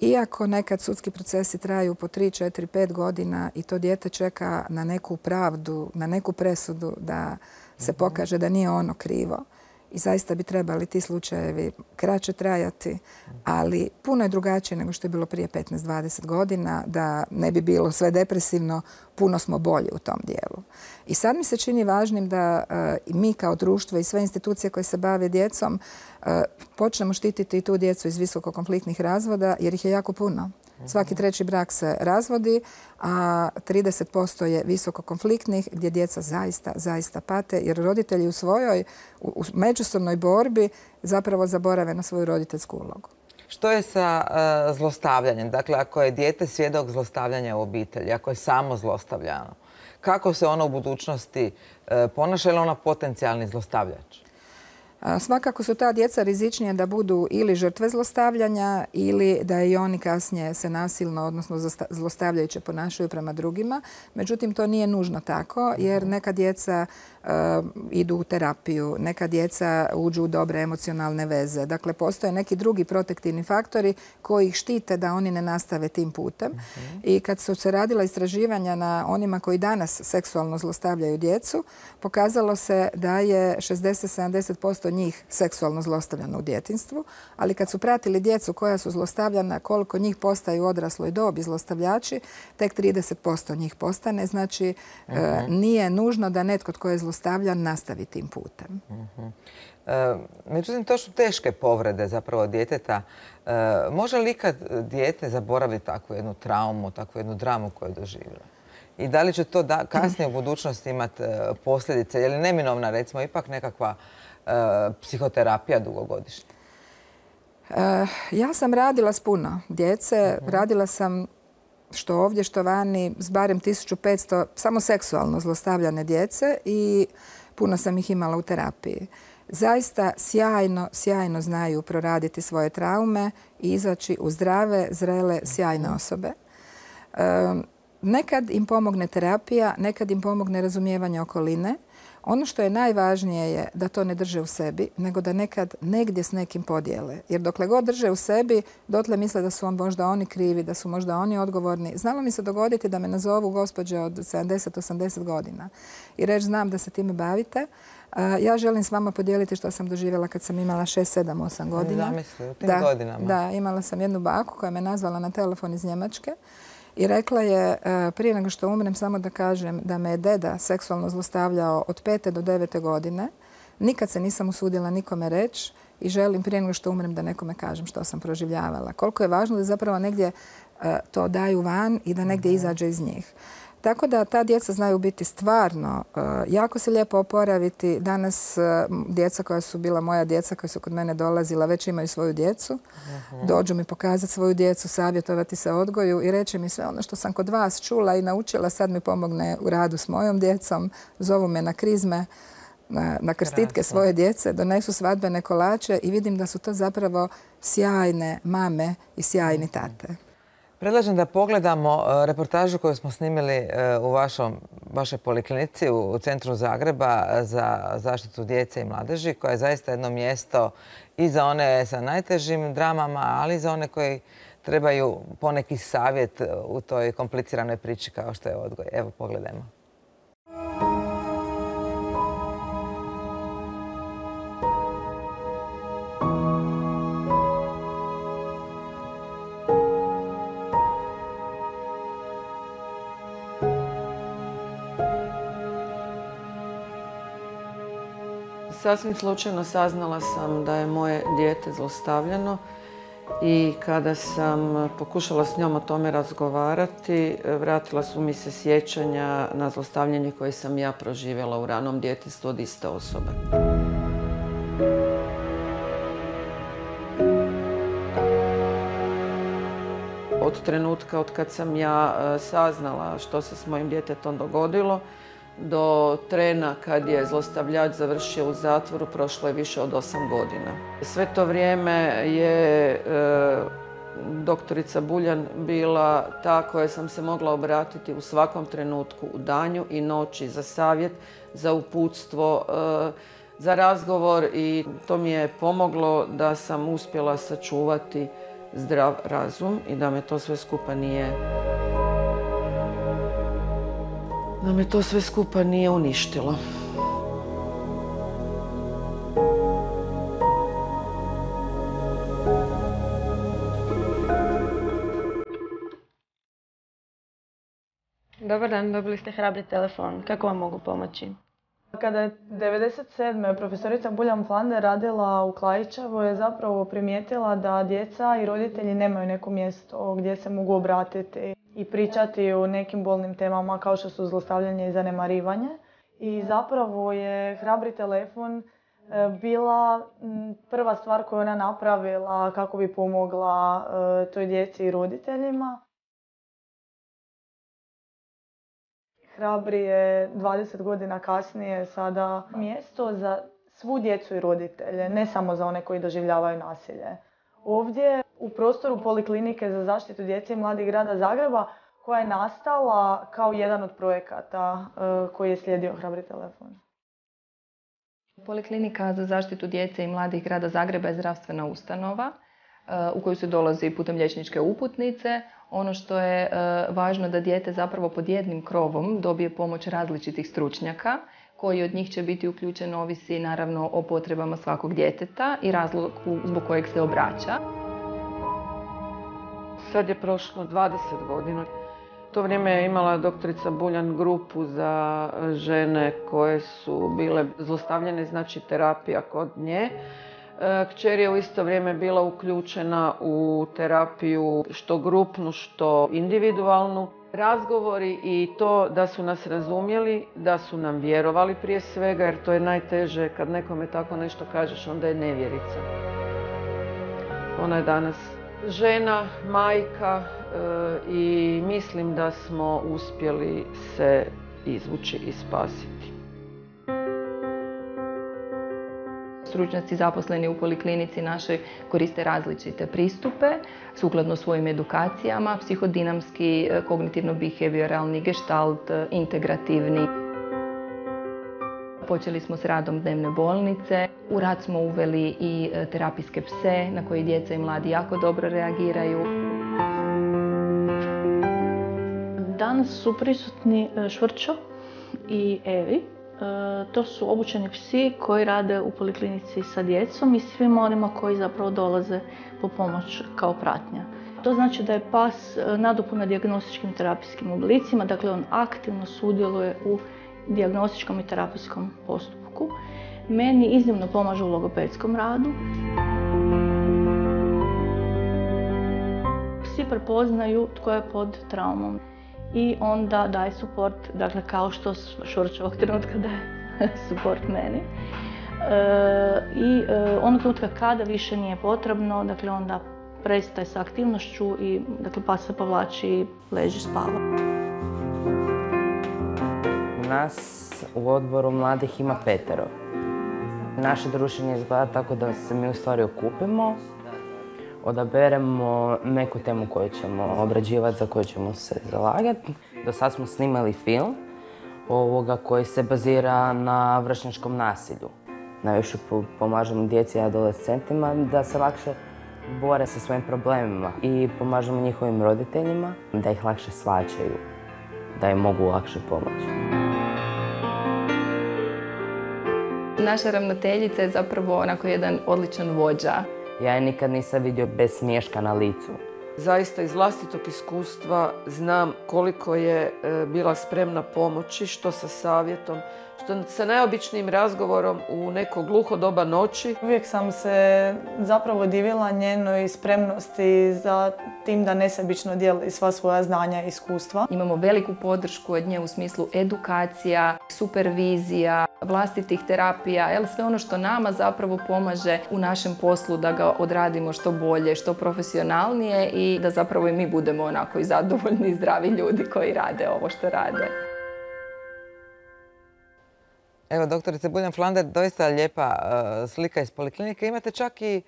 B: Iako nekad sudski procesi traju po 3, 4, 5 godina i to dijete čeka na neku pravdu, na neku presudu da se pokaže da nije ono krivo. I zaista bi trebali ti slučajevi kraće trajati, ali puno je drugačije nego što je bilo prije 15-20 godina, da ne bi bilo sve depresivno. puno smo bolji u tom dijelu. I sad mi se čini važnim da mi kao društvo i sve institucije koje se bave djecom počnemo štititi i tu djecu iz visokokonfliktnih razvoda jer ih je jako puno. Svaki treći brak se razvodi, a 30% je visokokonfliktnih gdje djeca zaista pate jer roditelji u međusobnoj borbi zapravo zaborave na svoju roditeljsku ulogu.
A: Što je sa zlostavljanjem? Dakle, ako je dijete svjedok zlostavljanja u obitelji, ako je samo zlostavljano, kako se ono u budućnosti ponaša ili ona potencijalni zlostavljač?
B: Svakako su ta djeca rizičnije da budu ili žrtve zlostavljanja ili da i oni kasnije se nasilno, odnosno zlostavljajuće ponašaju prema drugima. Međutim, to nije nužno tako jer neka djeca idu u terapiju, neka djeca uđu u dobre emocionalne veze. Dakle, postoje neki drugi protektivni faktori koji ih štite da oni ne nastave tim putem. I kad su se radila istraživanja na onima koji danas seksualno zlostavljaju djecu, pokazalo se da je 60-70% njih seksualno zlostavljano u djetinjstvu, ali kad su pratili djecu koja su zlostavljana, koliko njih postaju u odrasloj dobi zlostavljači, tek 30% njih postane. Znači, nije nužno da netko tko je zlostavljan nastavi tim putem.
A: Međutim, to su teške povrede zapravo djeteta. Može li ikad dijete zaboraviti takvu jednu traumu, takvu jednu dramu koju je doživjela? I da li će to kasnije u budućnosti imati posljedice? Je li neminovna, recimo, ipak nekakva psihoterapija dugogodišnja?
B: Ja sam radila s puno djece. Radila sam što ovdje, što vani, s barem 1500 samo seksualno zlostavljane djece i puno sam ih imala u terapiji. Zaista sjajno znaju proraditi svoje traume i izaći u zdrave, zrele, sjajne osobe. Nekad im pomogne terapija, nekad im pomogne razumijevanje okoline. Ono što je najvažnije je da to ne drže u sebi, nego da nekad negdje s nekim podijele. Jer dokle god drže u sebi, dotle misle da su možda oni krivi, da su možda oni odgovorni. Znalo mi se dogoditi da me nazovu gospođe od 70-80 godina i reći znam da se time bavite. Ja želim s vama podijeliti što sam doživjela kad sam imala 6, 7, 8 godina.
A: Zamisli, u tim godinama.
B: Da, imala sam jednu baku koja me nazvala na telefon iz Njemačke. I rekla je, prije nego što umrem, samo da kažem da me je deda seksualno zlostavljao od 5. do 9. godine. Nikad se nisam usudila nikome reći i želim prije nego što umrem da nekome kažem što sam proživljavala. Koliko je važno da zapravo negdje to daju van i da negdje izađe iz njih. Tako da ta djeca znaju biti stvarno jako se lijepo oporaviti. Danas djeca koja su bila moja djeca, koja su kod mene dolazila, već imaju svoju djecu. Dođu mi pokazati svoju djecu, savjetovati se odgoju i reći mi sve ono što sam kod vas čula i naučila, sad mi pomogne u radu s mojom djecom. Zovu me na krizme, na krstitke svoje djece, donesu svadbene kolače i vidim da su to zapravo sjajne mame i sjajni tate.
A: Predlažem da pogledamo reportažu koju smo snimili u vašoj poliklinici u centru Zagreba za zaštitu djece i mladeži, koja je zaista jedno mjesto i za one sa najtežim dramama, ali i za one koji trebaju poneki savjet u toj kompliciranoj priči kao što je odgoj. Evo, pogledajmo.
D: Sasvim slučajno saznala sam da je moje dijete zlostavljano i kada sam pokušala s njom o tome razgovarati, vratila su mi se sjećanja na zlostavljanje koje sam ja proživjela u ranom djetinjstvu od iste osobe. Od trenutka od kad sam ja saznala što se s mojim djetetom dogodilo, do trena kad je zlostavljač završio u zatvoru prošlo je više od 8 godina. Sve to vrijeme je doktorica Buljan bila ta koja sam se mogla obratiti u svakom trenutku, u danju i noći, za savjet, za uputstvo, za razgovor i to mi je pomoglo da sam uspjela sačuvati zdrav razum i da me to sve skupa nije uništilo.
E: Dobar dan, dobili ste hrabri telefon. Kako vam mogu pomoći?
F: Kada je 1997. profesorica Buljan Flander radila u Klaićevoj, je zapravo primijetila da djeca i roditelji nemaju neko mjesto gdje se mogu obratiti i pričati o nekim bolnim temama kao što su zlostavljanje i zanemarivanje. I zapravo je hrabri telefon bila prva stvar koju ona napravila kako bi pomogla toj djeci i roditeljima. Hrabri je 20 godina kasnije sada mjesto za svu djecu i roditelje, ne samo za one koji doživljavaju nasilje. Ovdje u prostoru Poliklinike za zaštitu djece i mladih grada Zagreba, koja je nastala kao jedan od projekata koji je slijedio hrabri telefon.
G: Poliklinika za zaštitu djece i mladih grada Zagreba je zdravstvena ustanova u koju se dolazi putem liječničke uputnice. Ono što je važno da dijete zapravo pod jednim krovom dobije pomoć različitih stručnjaka, koji od njih će biti uključen ovisi naravno o potrebama svakog djeteta i razlogu zbog kojeg se obraća.
D: Sad je prošlo 20 godina. U to vrijeme je imala doktorica Buljan grupu za žene koje su bile zlostavljene, znači terapija kod nje. Kćer je u isto vrijeme bila uključena u terapiju što grupnu, što individualnu. Razgovori i to da su nas razumjeli, da su nam vjerovali prije svega, jer to je najteže kad nekome tako nešto kažeš, onda je nevjerica. Ona je danas žena, majka i mislim da smo uspjeli se izvući i spasiti.
G: Stručnjaci zaposleni u poliklinici našoj koriste različite pristupe sukladno svojim edukacijama, psihodinamski, kognitivno-behavioralni, gestalt, integrativni. Počeli smo s radom dnevne bolnice. U rad smo uveli i terapijske pse na koje djeca i mladi jako dobro reagiraju.
E: Danas su prisutni Švrćo i Evi. To su obučeni psi koji rade u poliklinici sa djecom i svima onima koji zapravo dolaze po pomoć kao pratnja. To znači da je pas nadopuna dijagnostičkim terapijskim oblicima, dakle on aktivno sudjeluje u dijagnostičkom i terapijskom postupku. Meni iznimno pomaže u logopedskom radu. Psi prepoznaju tko je pod traumom i onda daje suport, dakle kao što Švrć ovog trenutka daje suport meni. I onog trenutka kada više nije potrebno, dakle onda prestaje sa aktivnošću i dakle pas se povlači i leži spava.
H: Nas u odboru mladih ima 5. Naše druženje izgleda tako da se mi u stvari okupimo, odaberemo neku temu koju ćemo obrađivati, za koju ćemo se zalagati. Do sad smo snimali film koji se bazira na vršnjačkom nasilju. Najviše pomažemo djeci i adolescentima da se lakše bore sa svojim problemima i pomažemo njihovim roditeljima da ih lakše shvaćaju, da im mogu lakše pomoći.
G: Naša ravnateljica je zapravo onako jedan odličan vođa.
H: Ja je nikad nisam vidio bez smiješka na licu.
D: Zaista iz vlastitog iskustva znam koliko je bila spremna pomoći, što sa savjetom, što sa najobičnijim razgovorom u neko gluho doba noći.
F: Uvijek sam se zapravo divila njenoj spremnosti za tim da nesebično dijeli sva svoja znanja i iskustva.
G: Imamo veliku podršku od nje u smislu edukacija, supervizija, vlastitih terapija, sve ono što nama zapravo pomaže u našem poslu da ga odradimo što bolje, što profesionalnije i da zapravo i mi budemo onako i zadovoljni i zdravi ljudi koji rade ovo što rade.
A: Evo, doktorice Buljan Flander, doista lijepa slika iz poliklinike. Imate čak i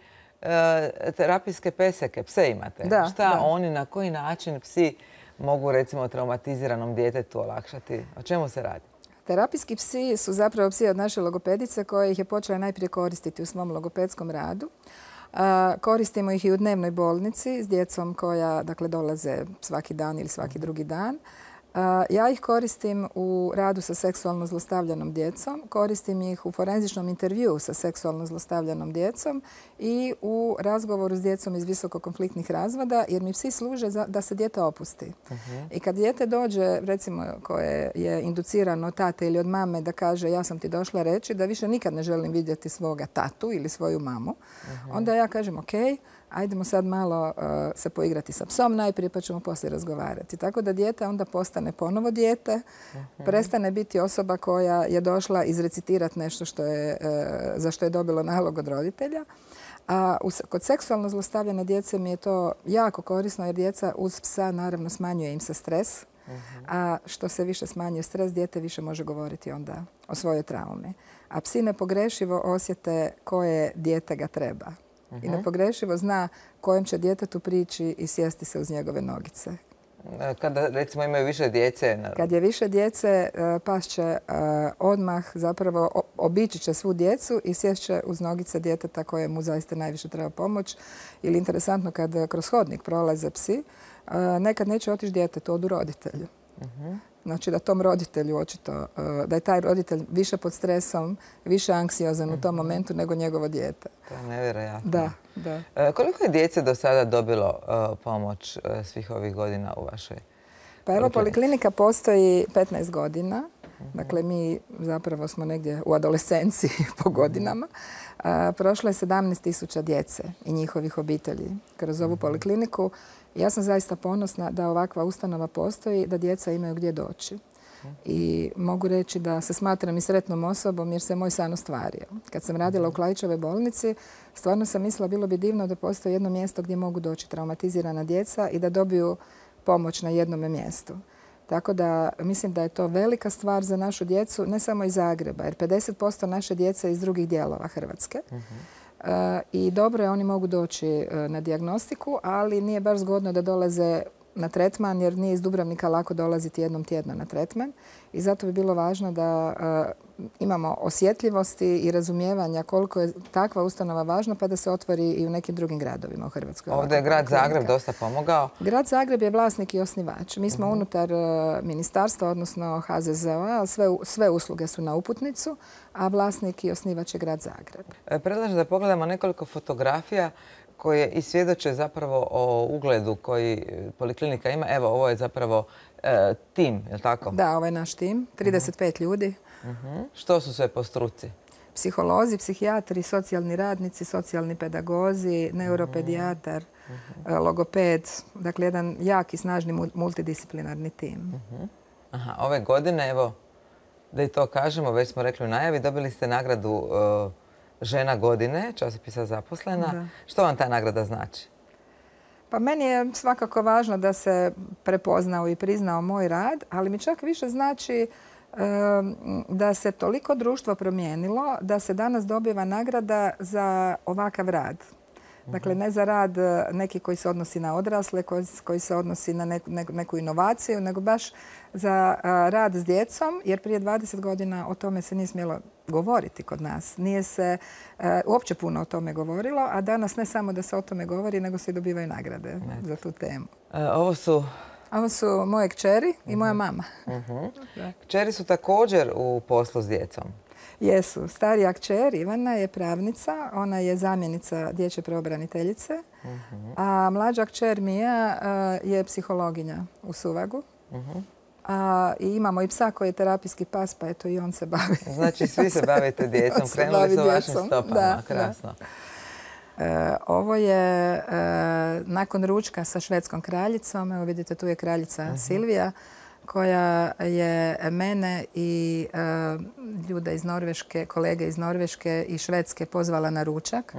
A: terapijske peseke, pse imate. Šta oni, na koji način psi mogu recimo traumatiziranom djetetu olakšati? O čemu se radi?
B: Terapijski psi su zapravo psi od naše logopedice koje ih je počela najprije koristiti u svom logopedskom radu. Koristimo ih i u dnevnoj bolnici s djecom koja dolaze svaki dan ili svaki drugi dan. Ja ih koristim u radu sa seksualno zlostavljanom djecom, koristim ih u forenzičnom intervjuu sa seksualno zlostavljanom djecom i u razgovoru s djecom iz visokokonfliktnih razvoda, jer mi psi služe da se dijete opusti. I kad dijete dođe, recimo koje je inducirano od tate ili od mame, da kaže ja sam ti došla reći da više nikad ne želim vidjeti svoga tatu ili svoju mamu, onda ja kažem ok, ajdemo sad malo se poigrati sa psom najprije pa ćemo poslije razgovarati. Tako da dijete onda postane ponovo dijete, prestane biti osoba koja je došla izrecitirati nešto za što je dobilo nalog od roditelja. A kod seksualno zlostavljane djece mi je to jako korisno jer djeca uz psa naravno smanjuje im se stres. A što se više smanjuje stres, dijete više može govoriti onda o svojoj traumi. A psi nepogrešivo osjete koje dijete ga treba. I nepogrešivo zna kojem će djetetu prići i sjesti se uz njegove nogice.
A: Kada recimo imaju više djece?
B: Kad je više djece, pas će odmah zapravo obići će svu djecu i sjest će uz nogice djeteta koje mu zaista najviše treba pomoć. Ili interesantno kad kroz hodnik prolaze psi, nekad neće otići djetetu, odu roditelju. Znači da tom roditelju očito, da je taj roditelj više pod stresom, više anksiozan u tom momentu nego njegovo dijete.
A: To je nevjerojatno.
B: Da.
A: Koliko je djece do sada dobilo pomoć svih ovih godina u vašoj
B: Pa evo, poliklinika postoji 15 godina. Dakle, mi zapravo smo negdje u adolescenciji po godinama. Prošlo je 17.000 djece i njihovih obitelji kroz ovu polikliniku. Ja sam zaista ponosna da ovakva ustanova postoji, da djeca imaju gdje doći. I mogu reći da se smatram i sretnom osobom jer se moj san ostvario. Kad sam radila u Klaićevoj bolnici, stvarno sam mislila bilo bi divno da postoji jedno mjesto gdje mogu doći traumatizirana djeca i da dobiju pomoć na jednome mjestu. Tako da mislim da je to velika stvar za našu djecu, ne samo iz Zagreba, jer 50% naše djece je iz drugih dijelova Hrvatske. I dobro je, oni mogu doći na dijagnostiku, ali nije baš zgodno da dolaze na tretman, jer nije iz Dubrovnika lako dolaziti jednom tjedno na tretman. I zato bi bilo važno da imamo osjetljivosti i razumijevanja koliko je takva ustanova važna, pa da se otvori i u nekim drugim gradovima u Hrvatskoj.
A: Ovdje je grad Zagreb dosta pomogao.
B: Grad Zagreb je vlasnik i osnivač. Mi smo unutar ministarstva, odnosno HZZO-a, sve usluge su na uputnicu, a vlasnik i osnivač je grad Zagreb.
A: Predlažem da pogledamo nekoliko fotografija koje i svjedoče zapravo o ugledu koji poliklinika ima. Evo, ovo je zapravo tim, je li tako?
B: Da, ovo je naš tim, 35 ljudi.
A: Što su sve po struci?
B: Psiholozi, psihijatri, socijalni radnici, socijalni pedagozi, neuropedijatar, logoped. Dakle, jedan jak i snažni multidisciplinarni tim.
A: Ove godine, evo, da i to kažemo, već smo rekli u najavi, dobili ste nagradu Žena godine, časopisa Zaposlena.
B: Da.
A: Što vam ta nagrada znači?
B: Pa meni je svakako važno da se prepoznao i priznao moj rad, ali mi čak više znači da se toliko društvo promijenilo da se danas dobiva nagrada za ovakav rad. Dakle, ne za rad neki koji se odnosi na odrasle, koji se odnosi na neku inovaciju, nego baš za rad s djecom, jer prije 20 godina o tome se nije smjelo govoriti kod nas. Nije se uopće puno o tome govorilo, a danas ne samo da se o tome govori, nego se i dobivaju nagrade za tu temu. Ovo su moje kćeri i moja mama.
A: Kćeri su također u poslu s djecom.
B: Jesu. Starija kćer Ivana je pravnica, ona je zamjenica dječje pravobraniteljice, a mlađa kćer Mija je psihologinja u Suvagu. I imamo i psa koji je terapijski pas, pa eto i on se bavi.
A: Znači svi se bavite djecom, krenuli su vašim stopama. Krasno.
B: Ovo je nakon ručka sa švedskom kraljicom. Evo vidite, tu je kraljica Silvija, koja je mene i ljude iz Norveške, kolege iz Norveške i Švedske pozvala na ručak,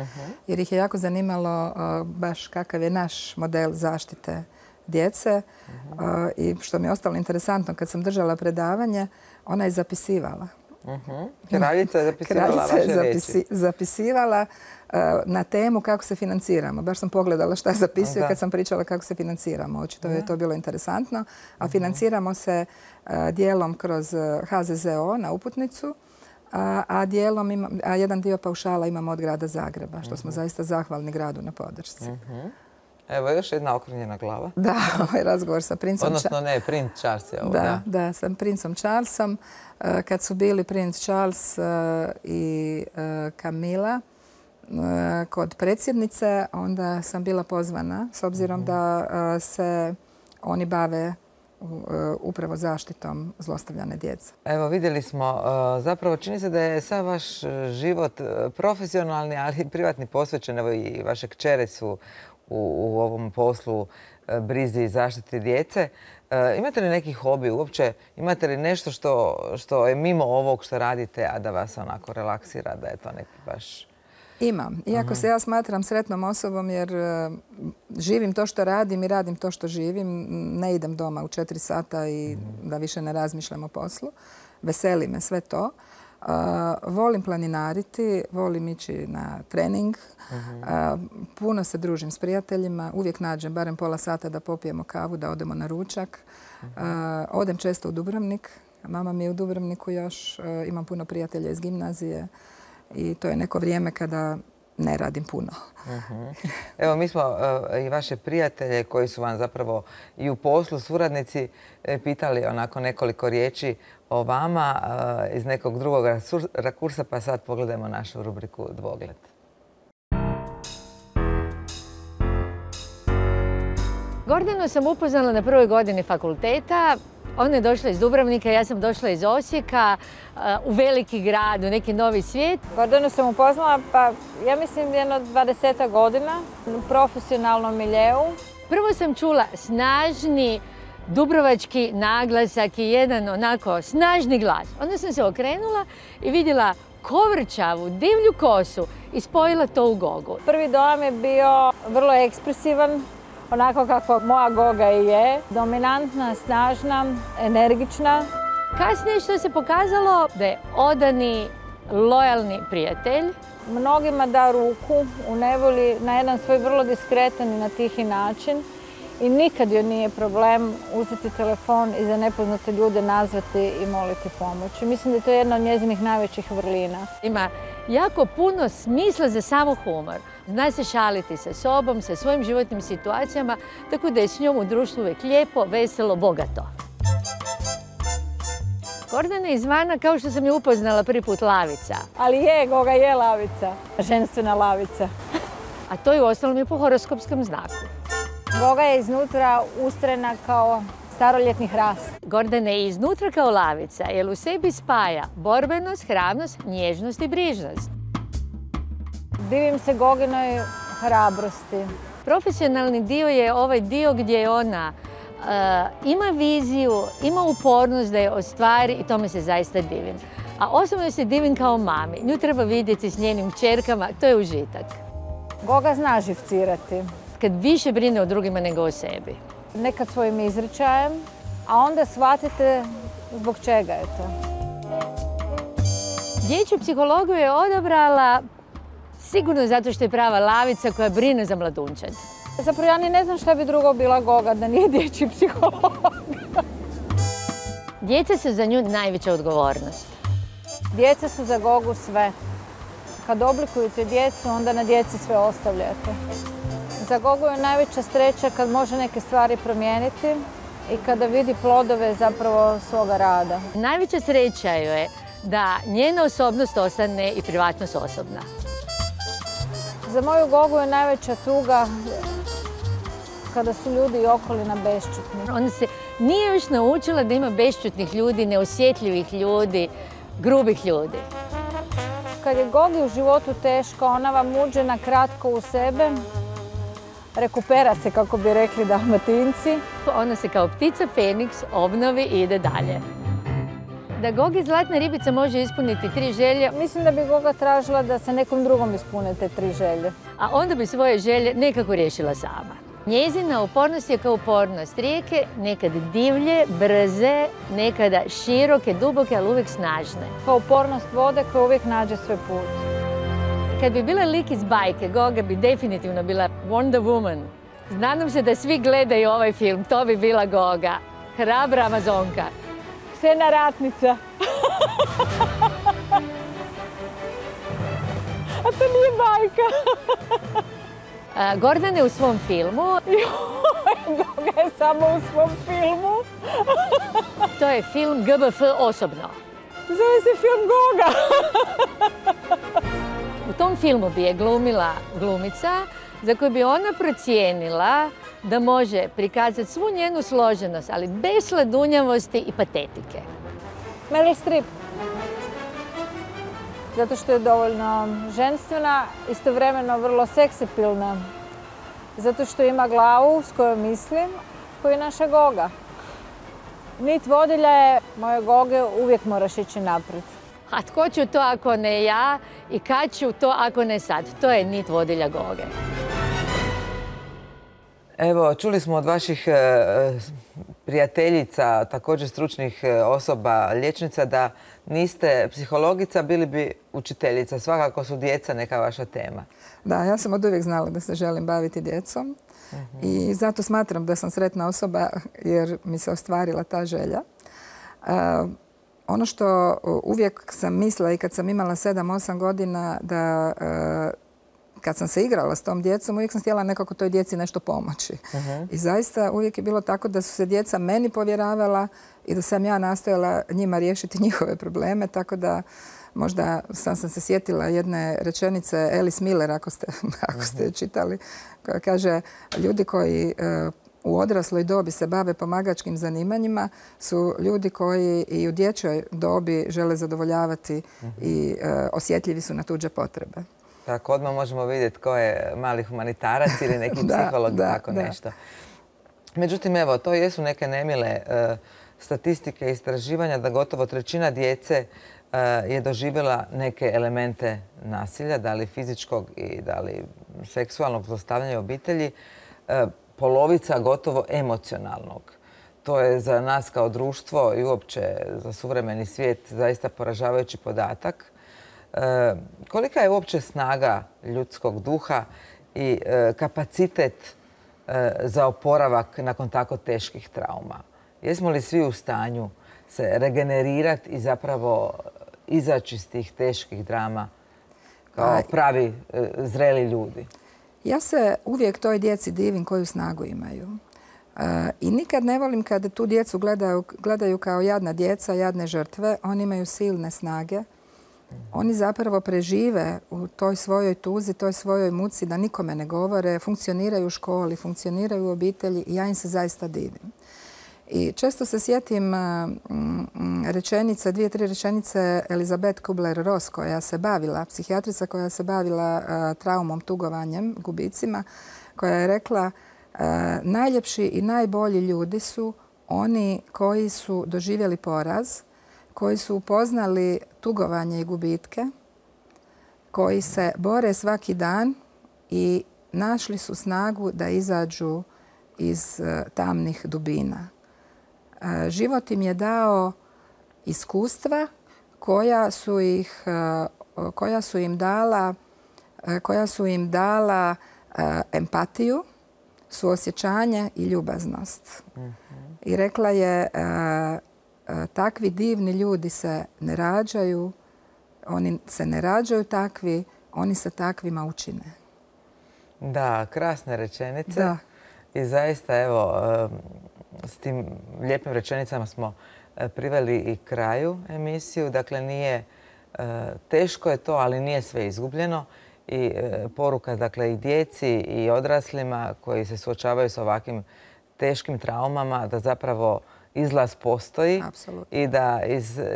B: jer ih je jako zanimalo baš kakav je naš model zaštite djece. I što mi je ostalo interesantno, kad sam držala predavanje, ona je zapisivala.
A: Kraljica je zapisivala vaše riječi.
B: Zapisivala na temu kako se financiramo. Baš sam pogledala šta zapisuje kad sam pričala kako se financiramo. Očito je to bilo interesantno. A financiramo se dijelom kroz HZZO na uputnicu, a jedan dio paušala imamo od grada Zagreba, što smo zaista zahvalni gradu na podršci.
A: Evo još jedna okrnjena glava.
B: Da, ovaj razgovor sa princom
A: Odnosno ne, princ Charles je ovo, da.
B: Da, sa princom Charlesom. Kad su bili princ Charles i Camilla kod predsjednice, onda sam bila pozvana, s obzirom da se oni bave upravo zaštitom zlostavljane djece.
A: Evo, vidjeli smo, zapravo čini se da je sav vaš život profesionalni, ali i privatni posvećen. Evo i vaše kćere su u ovom poslu brizi i zaštiti djece. Imate li neki hobi uopće? Imate li nešto što je mimo ovog što radite, a da vas onako relaksira, da je to neki baš...
B: Imam. Iako se ja smatram sretnom osobom jer živim to što radim i radim to što živim. Ne idem doma u 4 sata i da više ne razmišljam o poslu. Veseli me sve to. Volim planinariti, volim ići na trening. Puno se družim s prijateljima. Uvijek nađem barem pola sata da popijemo kavu, da odemo na ručak. Odem često u Dubrovnik. Mama mi je u Dubrovniku još. Imam puno prijatelja iz gimnazije. I to je neko vrijeme kada ne radim puno.
A: Evo, mi smo i vaše prijatelje koji su vam zapravo i u poslu suradnici pitali onako nekoliko riječi o vama iz nekog drugog rakursa, pa sad pogledajmo našu rubriku Dvogled.
I: Gordanu sam upoznala na prvoj godini fakulteta. Ona je došla iz Dubrovnika, ja sam došla iz Osijeka, u veliki grad, u neki novi svijet.
J: Gordanu sam upoznala, pa ja mislim jedno 20 godina u profesionalnom miljeu.
I: Prvo sam čula snažni dubrovački naglasak i jedan onako snažni glas. Onda sam se okrenula i vidjela kovrčavu, divlju kosu i spojila to u Gogu.
J: Prvi dojam je bio vrlo ekspresivan, onako kako moja Goga i je. Dominantna, snažna, energična.
I: Kasnije što se pokazalo da je odani, lojalni prijatelj.
J: Mnogima da ruku u nevolji na jedan svoj vrlo diskretan i na tihi način. I nikad joj nije problem uzeti telefon i za nepoznate ljude nazvati i moliti pomoć. Mislim da je to jedna od njezinih najvećih vrlina.
I: Ima jako puno smisla za samo humor. Zna se šaliti sa sobom, sa svojim životnim situacijama, tako da je s njom u društvu uvijek lijepo, veselo, bogato. Gordana je izvana, kao što sam je upoznala prvi put, lavica.
J: Ali je, Goga je lavica, ženstvena lavica.
I: A to je uostalom i po horoskopskom znaku.
J: Goga je iznutra ustrena kao staroljetni hrast.
I: Gordana je iznutra kao lavica, jer u sebi spaja borbenost, hrabrost, nježnost i brižnost.
J: Divim se Goginoj hrabrosti.
I: Profesionalni dio je ovaj dio gdje ona ima viziju, ima upornost da je ostvari i tome se zaista divim. A osobno se divim kao mami. Nju treba vidjeti s njenim kćerkama, to je užitak.
J: Goga zna živcirati.
I: Kad više brine o drugima nego o sebi.
J: Nekad svojim izričajem, a onda shvatite zbog čega je to.
I: Dječju psihologiju je odabrala sigurno zato što je prava lavica koja brine za mladunčad.
J: Zapravo ja ni ne znam šta bi drugo bila Goga da nije dječji psiholog.
I: Djeca su za nju najveća odgovornost.
J: Djeca su za Gogu sve. Kad oblikujete djecu, onda na djeci sve ostavljate. Za Gogu je najveća sreća kad može neke stvari promijeniti i kada vidi plodove zapravo svoga rada.
I: Najveća sreća joj je da njena osobnost ostane i privatnost osobna.
J: Za moju Gogu je najveća tuga kada su ljudi i okolina bešćutni.
I: Ona se nije još naučila da ima bešćutnih ljudi, neosjetljivih ljudi, grubih ljudi.
J: Kad je Gogi u životu teško, ona vam uđe na kratko u sebe, rekupera se, kako bi rekli Dalmatinci.
I: Ona se kao ptica Feniks obnovi i ide dalje. Da Gogi zlatna ribica može ispuniti 3 želje.
J: Mislim da bi Goga tražila da se nekom drugom ispune te 3 želje.
I: A onda bi svoje želje nekako riješila sama. Njezina upornost je kao upornost rijeke, nekad divlje, brze, nekada široke, duboke, ali uvijek snažne.
J: Kao upornost vode koja uvijek nađe svoj put.
I: Kad bi bila lik iz bajke, Goga bi definitivno bila Wonder Woman. Nadam se da svi gledaju ovaj film, to bi bila Goga. Hrabra Amazonka.
J: Ksena ratnica. A to nije bajka.
I: Gordana je u svom filmu.
J: Goga je samo u svom filmu.
I: To je film GBF osobno.
J: Zove se film Goga.
I: U tom filmu bi je glumila glumica za koju bi ona procijenila da može prikazati svu njenu složenost, ali bez sladunjavosti i patetike.
J: Meryl Streep. Zato što je dovoljno ženstvena, istovremeno vrlo seksipilna. Zato što ima glavu s kojom mislim, koju je naša Goga. Nit vodilja je moje Goge, uvijek moraš ići naprijed.
I: A tko ću to ako ne ja i kad ću to ako ne sad? To je nit vodilja Goge.
A: Evo, čuli smo od vaših prijateljica, također stručnih osoba, liječnica, da niste psihologica, bili bi učiteljica. Svakako su djeca neka vaša tema.
B: Da, ja sam od uvijek znala da se želim baviti djecom i zato smatram da sam sretna osoba jer mi se ostvarila ta želja. Ono što uvijek sam mislila i kad sam imala 7-8 godina da kad sam se igrala s tom djecom, uvijek sam htjela nekako toj djeci nešto pomoći. I zaista uvijek je bilo tako da su se djeca meni povjeravala i da sam ja nastojala njima riješiti njihove probleme, tako da možda sam se sjetila jedne rečenice Alice Miller, ako ste je čitali, koja kaže ljudi koji u odrasloj dobi se bave pomagačkim zanimanjima su ljudi koji i u dječjoj dobi žele zadovoljavati i osjetljivi su na tuđe potrebe.
A: Tako, odmah možemo vidjeti ko je mali humanitarac ili neki psiholog, tako nešto. Međutim, evo, to jesu neke nemile statistike i istraživanja da gotovo trećina djece je doživjela neke elemente nasilja, da li fizičkog i da li seksualnog zlostavljanja u obitelji, polovica gotovo emocionalnog. To je za nas kao društvo i uopće za suvremeni svijet zaista poražavajući podatak. Kolika je uopće snaga ljudskog duha i kapacitet za oporavak nakon tako teških trauma? Jesmo li svi u stanju se regenerirati i zapravo izaći iz tih teških drama kao pravi zreli ljudi?
B: Ja se uvijek toj djeci divim koju snagu imaju. I nikad ne volim kada tu djecu gledaju kao jadna djeca, jadne žrtve. Oni imaju silne snage. Oni zapravo prežive u toj svojoj tuzi, toj svojoj muci da nikome ne govore, funkcioniraju u školi, funkcioniraju u obitelji i ja im se zaista divim. I često se sjetim rečenice, 2-3 rečenice Elizabeth Kubler-Ross koja se bavila, psihijatrica koja se bavila traumom, tugovanjem, gubicima, koja je rekla najljepši i najbolji ljudi su oni koji su doživjeli poraz, koji su upoznali tugovanje i gubitke, koji se bore svaki dan i našli su snagu da izađu iz tamnih dubina. Život im je dao iskustva koja su im dala empatiju, suosjećanje i ljubaznost. I rekla je takvi divni ljudi se ne rađaju, oni se ne rađaju takvi, oni se takvima učine.
A: Da, krasne rečenice.
B: Da.
A: I zaista, evo, s tim lijepim rečenicama smo priveli i kraju emisiju. Dakle, nije teško je to, ali nije sve izgubljeno. I poruka, dakle, i djeci i odraslima koji se suočavaju s ovakvim teškim traumama, da zapravo izlaz postoji.
B: Apsolutno.
A: I da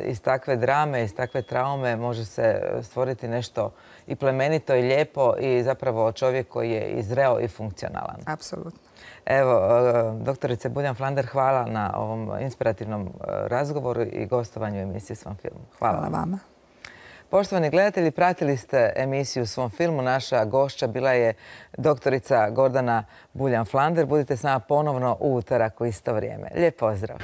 A: iz takve drame, iz takve traume može se stvoriti nešto i plemenito i lijepo i zapravo čovjek koji je i zreo i funkcionalan.
B: Apsolutno.
A: Evo, doktorice Buljan-Flander, hvala na ovom inspirativnom razgovoru i gostovanju u emisiji Svom filmu.
B: Hvala vama.
A: Poštovani gledatelji, pratili ste emisiju Svom filmu. Naša gošća bila je doktorica Gordana Buljan-Flander. Budite s nama ponovno u utorak u isto vrijeme. Lijep pozdrav!